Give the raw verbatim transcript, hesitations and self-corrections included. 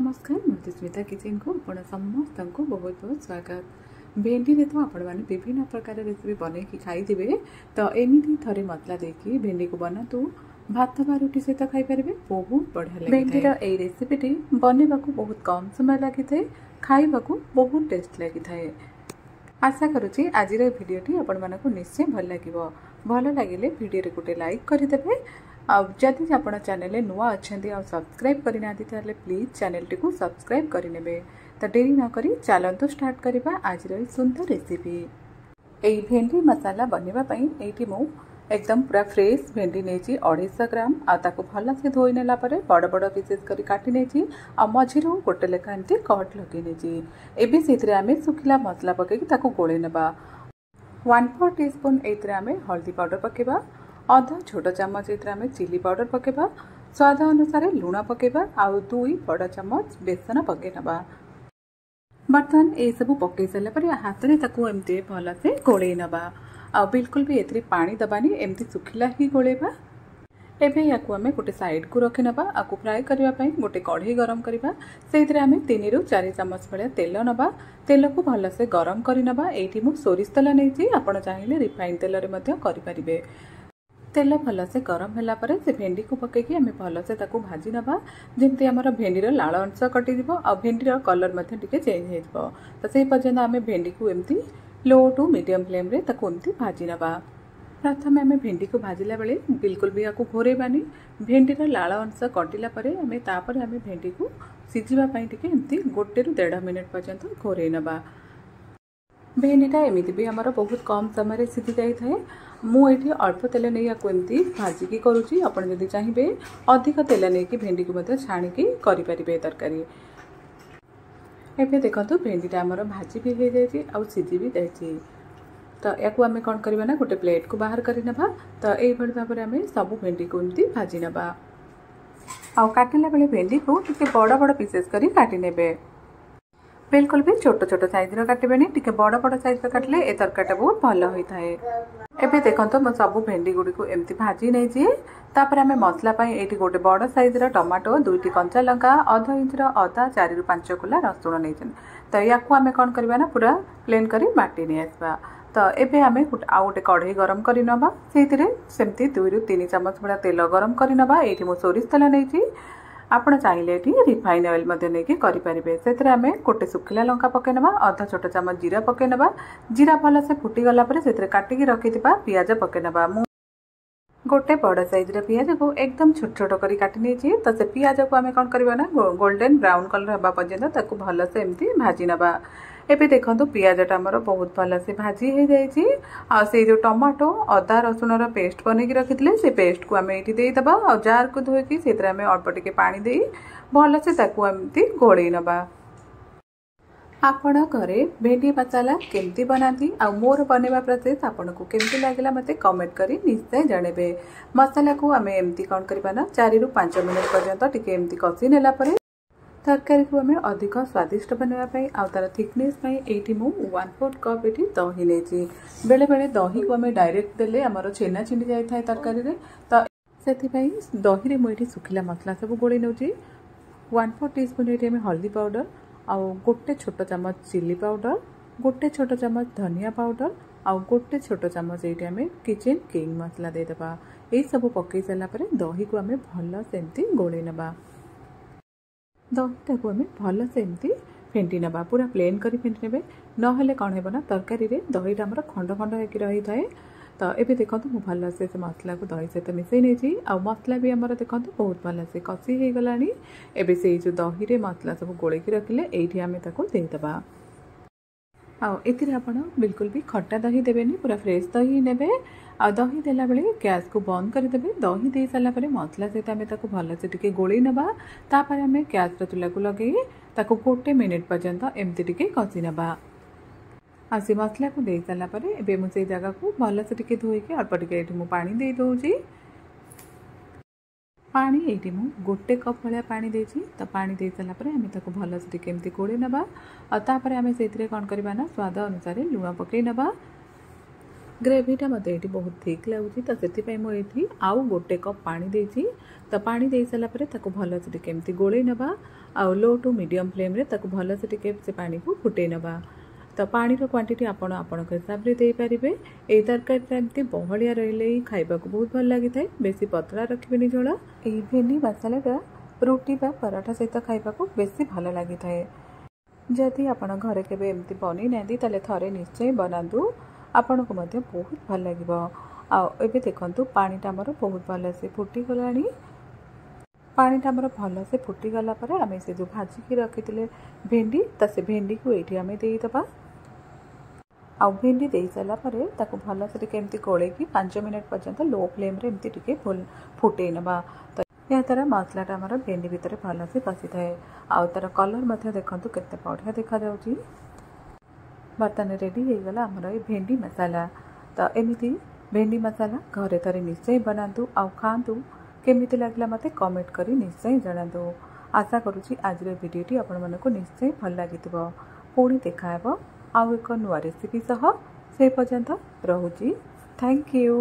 ନମସ୍କାର, ମଧୁସ୍ମିତା କିଚେନକୁ ଆପଣ ସମସ୍ତଙ୍କୁ ବହୁତ ବହୁତ ସ୍ୱାଗତ। ଭେଣ୍ଡିରେ ତ ଆପଣମାନେ ବିଭିନ୍ନ ପ୍ରକାର ରେସିପି ବନେଇକି ଖାଇଥିବେ। ତ ଏମିତି ଥରେ ମସଲା ଦେଇକି ଭେଣ୍ଡିକୁ ବନାନ୍ତୁ, ଭାତ ବା ରୁଟି ସହିତ ଖାଇପାରିବେ, ବହୁତ ବଢ଼ିଆ ଲାଗେ। ଭେଣ୍ଡିର ଏଇ ରେସିପିଟି ବନେଇବାକୁ ବହୁତ କମ୍ ସମୟ ଲାଗିଥାଏ, ଖାଇବାକୁ ବହୁତ ଟେଷ୍ଟ ଲାଗିଥାଏ। ଆଶା କରୁଛି ଆଜିର ଏ ଭିଡ଼ିଓଟି ଆପଣମାନଙ୍କୁ ନିଶ୍ଚୟ ଭଲ ଲାଗିବ। ଭଲ ଲାଗିଲେ ଭିଡ଼ିଓରେ ଗୋଟେ ଲାଇକ୍ କରିଦେବେ। ଆଉ ଯଦି ଆପଣ ଚ୍ୟାନେଲରେ ନୂଆ ଅଛନ୍ତି ଆଉ ସବସ୍କ୍ରାଇବ୍ କରିନାହାନ୍ତି, ତାହେଲେ ପ୍ଲିଜ୍ ଚ୍ୟାନେଲଟିକୁ ସବସ୍କ୍ରାଇବ୍ କରିନେବେ। ତ ଡେରି ନକରି ଚାଲନ୍ତୁ ଷ୍ଟାର୍ଟ କରିବା ଆଜିର ଏଇ ସୁନ୍ଦର ରେସିପି। ଏଇ ଭେଣ୍ଡି ମସଲା ବନେଇବା ପାଇଁ ଏଇଠି ମୁଁ ଏକଦମ ପୁରା ଫ୍ରେଶ୍ ଭେଣ୍ଡି ନେଇଛି ଅଢ଼େଇଶହ ଗ୍ରାମ। ଆଉ ତାକୁ ଭଲସେ ଧୋଇ ନେଲା ପରେ ବଡ଼ ବଡ଼ ପିସେସ୍ କରି କାଟି ନେଇଛି, ଆଉ ମଝିରୁ ଗୋଟେ ଲେଖା ଏମିତି କଟ୍ ଲଗେଇ ନେଇଛି। ଏବେ ସେଇଥିରେ ଆମେ ଶୁଖିଲା ମସଲା ପକାଇକି ତାକୁ ଗୋଳେଇ ନେବା। ୱାନ୍ ଫୋର୍ ଟି ସ୍ପୁନ୍ ଏଇଥିରେ ଆମେ ହଳଦୀ ପାଉଡ଼ର ପକାଇବା, ଅଧା ଛୋଟ ଚାମଚ ଏଥିରେ ଆମେ ଚିଲି ପାଉଡ଼ର ପକାଇବା, ସ୍ୱାଦ ଅନୁସାରେ ଲୁଣ ପକାଇବା ଆଉ ଦୁଇ ବଡ଼ ଚାମଚ ବେସନ ପକାଇ ନେବା। ବର୍ତ୍ତମାନ ଏସବୁ ପକାଇ ସାରିଲା ପରେ ହାତରେ ତାକୁ ଏମିତି ଭଲସେ ଗୋଳେଇ ନେବା, ଆଉ ବିଲକୁଲ ବି ଏଥିରେ ପାଣି ଦେବାନି, ଏମିତି ଶୁଖିଲା ହିଁ ଗୋଳେଇବା। ଏବେ ୟାକୁ ଆମେ ଗୋଟେ ସାଇଡ଼କୁ ରଖିନେବା। ଆକୁ ଫ୍ରାଏ କରିବା ପାଇଁ ଗୋଟେ କଢ଼େଇ ଗରମ କରିବା। ସେଇଥିରେ ଆମେ ତିନିରୁ ଚାରି ଚାମଚ ଭଳିଆ ତେଲ ନେବା। ତେଲକୁ ଭଲସେ ଗରମ କରିନେବା। ଏଇଠି ମୁଁ ସୋରିଷ ତେଲ ନେଇଛି, ଆପଣ ଚାହିଁଲେ ରିଫାଇନ୍ ତେଲରେ ମଧ୍ୟ କରିପାରିବେ। ତେଲ ଭଲସେ ଗରମ ହେଲା ପରେ ସେ ଭେଣ୍ଡିକୁ ପକାଇକି ଆମେ ଭଲସେ ତାକୁ ଭାଜି ନେବା, ଯେମିତି ଆମର ଭେଣ୍ଡିର ଲାଳ ଅଂଶ କଟିଯିବ ଆଉ ଭେଣ୍ଡିର କଲର୍ ମଧ୍ୟ ଟିକେ ଚେଞ୍ଜ ହେଇଯିବ। ତ ସେଇ ପର୍ଯ୍ୟନ୍ତ ଆମେ ଭେଣ୍ଡିକୁ ଏମିତି ଲୋ ଟୁ ମିଡ଼ିୟମ୍ ଫ୍ଲେମ୍ରେ ତାକୁ ଏମିତି ଭାଜି ନେବା। ପ୍ରଥମେ ଆମେ ଭେଣ୍ଡିକୁ ଭାଜିଲା ବେଳେ ବିଲକୁଲ ବି ୟାକୁ ଘୋରେଇବାନି। ଭେଣ୍ଡିର ଲାଳ ଅଂଶ କଟିଲା ପରେ ଆମେ ତାପରେ ଆମେ ଭେଣ୍ଡିକୁ ସିଝିବା ପାଇଁ ଟିକେ ଏମିତି ଗୋଟେରୁ ଦେଢ଼ ମିନିଟ୍ ପର୍ଯ୍ୟନ୍ତ ଘୋରେଇ ନେବା। ଭେଣ୍ଡିଟା ଏମିତି ବି ଆମର ବହୁତ କମ୍ ସମୟରେ ସିଝି ଯାଇଥାଏ। ମୁଁ ଏଇଠି ଅଳ୍ପ ତେଲ ନେଇ ୟାକୁ ଏମିତି ଭାଜିକି କରୁଛି। ଆପଣ ଯଦି ଚାହିଁବେ, ଅଧିକ ତେଲ ନେଇକି ଭେଣ୍ଡିକୁ ମଧ୍ୟ ଛାଣିକି କରିପାରିବେ ତରକାରୀ। ଏବେ ଦେଖନ୍ତୁ, ଭେଣ୍ଡିଟା ଆମର ଭାଜି ବି ହେଇଯାଇଛି ଆଉ ସିଝି ବି ଯାଇଛି। ତ ୟାକୁ ଆମେ କ'ଣ କରିବା ନା ଗୋଟେ ପ୍ଲେଟ୍କୁ ବାହାର କରିନେବା। ତ ଏଇଭଳି ଭାବରେ ଆମେ ସବୁ ଭେଣ୍ଡିକୁ ଏମିତି ଭାଜି ନେବା। ଆଉ କାଟିଲା ବେଳେ ଭେଣ୍ଡିକୁ ଟିକେ ବଡ଼ ବଡ଼ ପିସେସ୍ କରି କାଟି ନେବେ, ବିଲକୁଲ ବି ଛୋଟ ଛୋଟ ସାଇଜ୍ର କାଟିବେନି। ଟିକେ ବଡ଼ ବଡ଼ ସାଇଜ୍ର କାଟିଲେ ଏ ତରକାରୀଟା ବହୁତ ଭଲ ହୋଇଥାଏ। ଏବେ ଦେଖନ୍ତୁ, ମୁଁ ସବୁ ଭେଣ୍ଡି ଗୁଡ଼ିକୁ ଏମିତି ଭାଜି ନେଇଛି। ତାପରେ ଆମେ ମସଲା ପାଇଁ ଏଇଠି ଗୋଟେ ବଡ଼ ସାଇଜ୍ର ଟମାଟୋ, ଦୁଇଟି କଞ୍ଚା ଲଙ୍କା, ଅଧ ଇଞ୍ଚର ଅଦା, ଚାରିରୁ ପାଞ୍ଚ କୁଲା ରସୁଣ ନେଇଛନ୍ତି। ତ ୟାକୁ ଆମେ କ'ଣ କରିବା ନା ପୁରା ପ୍ଲେନ୍ କରି ବାଟି ନେଇ ଆସିବା। ତ ଏବେ ଆମେ ଆଉ ଗୋଟେ କଢ଼େଇ ଗରମ କରି ନେବା। ସେଇଥିରେ ସେମିତି ଦୁଇରୁ ତିନି ଚାମଚ ଭଳିଆ ତେଲ ଗରମ କରି ନେବା। ଏଇଠି ମୁଁ ସୋରିଷ ତେଲ ନେଇଛି, ଆପଣ ଚାହିଁଲେ ଏଠି ରିଫାଇନ୍ ଅଏଲ୍ ମଧ୍ୟ ନେଇକି କରିପାରିବେ। ସେଥିରେ ଆମେ ଗୋଟେ ଶୁଖିଲା ଲଙ୍କା ପକାଇ ନେବା, ଅଧ ଛୋଟ ଚାମଚ ଜିରା ପକାଇ ନେବା। ଜିରା ଭଲସେ ଫୁଟିଗଲା ପରେ ସେଥିରେ କାଟିକି ରଖିଥିବା ପିଆଜ ପକାଇ ନେବା। ମୁଁ ଗୋଟେ ବଡ଼ ସାଇଜ୍ର ପିଆଜକୁ ଏକଦମ ଛୋଟ ଛୋଟ କରି କାଟି ନେଇଛି। ତ ସେ ପିଆଜକୁ ଆମେ କ'ଣ କରିବା ନା ଗୋଲ୍ଡେନ୍ ବ୍ରାଉନ୍ କଲର୍ ହେବା ପର୍ଯ୍ୟନ୍ତ ତାକୁ ଭଲସେ ଏମିତି ଭାଜି ନେବା। ଏବେ ଦେଖନ୍ତୁ, ପିଆଜଟା ଆମର ବହୁତ ଭଲସେ ଭାଜି ହେଇଯାଇଛି। ଆଉ ସେଇ ଯେଉଁ ଟମାଟୋ, ଅଦା, ରସୁଣର ପେଷ୍ଟ ବନେଇକି ରଖିଥିଲେ, ସେ ପେଷ୍ଟକୁ ଆମେ ଏଇଠି ଦେଇଦେବା। ଆଉ ଜାର୍କୁ ଧୋଇକି ସେଥିରେ ଆମେ ଅଳ୍ପ ଟିକେ ପାଣି ଦେଇ ଭଲସେ ତାକୁ ଏମିତି ଗୋଳେଇ ନେବା। ଆପଣ ଘରେ ଭେଣ୍ଡି ମସଲା କେମିତି ବନାନ୍ତି ଆଉ ମୋର ବନେଇବା ପ୍ରୋସେସ୍ ଆପଣଙ୍କୁ କେମିତି ଲାଗିଲା, ମୋତେ କମେଣ୍ଟ କରି ନିଶ୍ଚୟ ଜଣାଇବେ। ମସଲାକୁ ଆମେ ଏମିତି କ'ଣ କରିବା ନା ଚାରିରୁ ପାଞ୍ଚ ମିନିଟ୍ ପର୍ଯ୍ୟନ୍ତ ଟିକେ ଏମିତି କଷି ନେଲା ପରେ ତରକାରୀକୁ ଆମେ ଅଧିକ ସ୍ୱାଦିଷ୍ଟ ବନେଇବା ପାଇଁ ଆଉ ତା'ର ଥିକନେସ୍ ପାଇଁ ଏଇଠି ମୁଁ ୱାନ୍ ଫୋର୍ଥ କପ୍ ଏଠି ଦହି ନେଇଛି। ବେଳେବେଳେ ଦହିକୁ ଆମେ ଡାଇରେକ୍ଟ ଦେଲେ ଆମର ଛେନା ଛିଣ୍ଡି ଯାଇଥାଏ ତରକାରୀରେ। ତ ସେଥିପାଇଁ ଦହିରେ ମୁଁ ଏଇଠି ଶୁଖିଲା ମସଲା ସବୁ ଗୋଳେଇ ନେଉଛି। ୱାନ୍ ଫୋର୍ ଟି ସ୍ପୁନ୍ ଏଇଠି ଆମେ ହଳଦୀ ପାଉଡ଼ର, ଆଉ ଗୋଟେ ଛୋଟ ଚାମଚ ଚିଲି ପାଉଡ଼ର, ଗୋଟେ ଛୋଟ ଚାମଚ ଧନିଆ ପାଉଡ଼ର ଆଉ ଗୋଟେ ଛୋଟ ଚାମଚ ଏଇଠି ଆମେ କିଚେନ୍ କିଙ୍ଗ ମସଲା ଦେଇଦେବା। ଏଇସବୁ ପକାଇ ସାରିଲା ପରେ ଦହିକୁ ଆମେ ଭଲ ସେମିତି ଗୋଳେଇ ନେବା। ଦହିଟାକୁ ଆମେ ଭଲସେ ଏମିତି ଫେଣ୍ଟି ନେବା, ପୁରା ପ୍ଲେନ୍ କରି ଫେଣ୍ଟି ନେବେ। ନହେଲେ କ'ଣ ହେବ ନା ତରକାରୀରେ ଦହିଟା ଆମର ଖଣ୍ଡ ଖଣ୍ଡ ହେଇକି ରହିଥାଏ। ତ ଏବେ ଦେଖନ୍ତୁ, ମୁଁ ଭଲସେ ସେ ମସଲାକୁ ଦହି ସହିତ ମିଶାଇ ନେଇଛି, ଆଉ ମସଲା ବି ଆମର ଦେଖନ୍ତୁ ବହୁତ ଭଲସେ କଷି ହେଇଗଲାଣି। ଏବେ ସେଇ ଯେଉଁ ଦହିରେ ମସଲା ସବୁ ଗୋଳେଇକି ରଖିଲେ, ଏଇଠି ଆମେ ତାକୁ ଦେଇଦେବା। ଆଉ ଏଥିରେ ଆପଣ ବିଲକୁଲ ବି ଖଟା ଦହି ଦେବେନି, ପୁରା ଫ୍ରେଶ୍ ଦହି ନେବେ। ଆଉ ଦହି ଦେଲାବେଳେ ଗ୍ୟାସ୍କୁ ବନ୍ଦ କରିଦେବେ। ଦହି ଦେଇ ସାରିଲା ପରେ ମସଲା ସହିତ ଆମେ ତାକୁ ଭଲସେ ଟିକେ ଗୋଳେଇ ନେବା। ତାପରେ ଆମେ ଗ୍ୟାସ୍ର ଚୁଲାକୁ ଲଗେଇ ତାକୁ ଗୋଟେ ମିନିଟ୍ ପର୍ଯ୍ୟନ୍ତ ଏମିତି ଟିକେ କଷି ନେବା। ଆଉ ସେ ମସଲାକୁ ଦେଇ ସାରିଲା ପରେ ଏବେ ମୁଁ ସେଇ ଜାଗାକୁ ଭଲସେ ଟିକେ ଧୋଇକି ଅଳ୍ପ ଟିକେ ଏଇଠି ମୁଁ ପାଣି ଦେଇ ଦେଉଛି। ପାଣି ଏଇଠି ମୁଁ ଗୋଟେ କପ୍ ଭଳିଆ ପାଣି ଦେଇଛି। ତ ପାଣି ଦେଇ ସାରିଲା ପରେ ଆମେ ତାକୁ ଭଲସେ ଟିକେ ଏମିତି ଗୋଳେଇ ନେବା। ଆଉ ତାପରେ ଆମେ ସେଇଥିରେ କ'ଣ କରିବା ନା ସ୍ୱାଦ ଅନୁସାରେ ଲୁଣ ପକାଇ ନେବା। ଗ୍ରେଭିଟା ମୋତେ ଏଇଠି ବହୁତ ଥିକ୍ ଲାଗୁଛି, ତ ସେଥିପାଇଁ ମୁଁ ଏଇଠି ଆଉ ଗୋଟେ କପ୍ ପାଣି ଦେଇଛି। ତ ପାଣି ଦେଇ ସାରିଲା ପରେ ତାକୁ ଭଲସେ ଟିକେ ଏମିତି ଗୋଳେଇ ନେବା, ଆଉ ଲୋ ଟୁ ମିଡ଼ିୟମ୍ ଫ୍ଲେମ୍ରେ ତାକୁ ଭଲସେ ଟିକେ ସେ ପାଣିକୁ ଫୁଟେଇ ନେବା। ତ ପାଣିର କ୍ୱାଣ୍ଟିଟି ଆପଣ ଆପଣଙ୍କ ହିସାବରେ ଦେଇପାରିବେ। ଏଇ ତରକାରୀଟା ଏମିତି ବହଳିଆ ରହିଲେ ହିଁ ଖାଇବାକୁ ବହୁତ ଭଲ ଲାଗିଥାଏ, ବେଶୀ ପତଳା ରଖିବେନି ଝୋଳ। ଏଇ ଭେଣ୍ଡି ମସଲାଟା ରୁଟି ବା ପରଠା ସହିତ ଖାଇବାକୁ ବେଶୀ ଭଲ ଲାଗିଥାଏ। ଯଦି ଆପଣ ଘରେ କେବେ ଏମିତି ବନେଇ ନାହାନ୍ତି, ତାହେଲେ ଥରେ ନିଶ୍ଚୟ ବନାନ୍ତୁ, ଆପଣଙ୍କୁ ମଧ୍ୟ ବହୁତ ଭଲ ଲାଗିବ। ଆଉ ଏବେ ଦେଖନ୍ତୁ, ପାଣିଟା ଆମର ବହୁତ ଭଲସେ ଫୁଟିଗଲାଣି। ପାଣିଟା ଆମର ଭଲସେ ଫୁଟିଗଲା ପରେ ଆମେ ସେ ଯେଉଁ ଭାଜିକି ରଖିଥିଲେ ଭେଣ୍ଡି, ତ ସେ ଭେଣ୍ଡିକୁ ଏଇଠି ଆମେ ଦେଇଦେବା। ଆଉ ଭେଣ୍ଡି ଦେଇ ସାରିଲା ପରେ ତାକୁ ଭଲସେ ଟିକେ ଏମିତି ଗୋଳେଇକି ପାଞ୍ଚ ମିନିଟ୍ ପର୍ଯ୍ୟନ୍ତ ଲୋ ଫ୍ଲେମ୍ରେ ଏମିତି ଟିକେ ଫୁଟେଇ ନେବା। ତ ଏହାଦ୍ୱାରା ମସଲାଟା ଆମର ଭେଣ୍ଡି ଭିତରେ ଭଲସେ ପଶିଥାଏ, ଆଉ ତା'ର କଲର୍ ମଧ୍ୟ ଦେଖନ୍ତୁ କେତେ ବଢ଼ିଆ ଦେଖାଯାଉଛି। ବର୍ତ୍ତମାନ ରେଡ଼ି ହେଇଗଲା ଆମର ଏ ଭେଣ୍ଡି ମସଲା। ତ ଏମିତି ଭେଣ୍ଡି ମସଲା ଘରେ ଥରେ ନିଶ୍ଚୟ ବନାନ୍ତୁ ଆଉ ଖାଆନ୍ତୁ। କେମିତି ଲାଗିଲା ମୋତେ କମେଣ୍ଟ କରି ନିଶ୍ଚୟ ଜଣାନ୍ତୁ। ଆଶା କରୁଛି ଆଜିର ଭିଡ଼ିଓଟି ଆପଣମାନଙ୍କୁ ନିଶ୍ଚୟ ଭଲ ଲାଗିଥିବ। ପୁଣି ଦେଖାହେବ ଆଉ ଏକ ନୂଆ ରେସିପି ସହ, ସେ ପର୍ଯ୍ୟନ୍ତ ରହୁଛି। Thank you.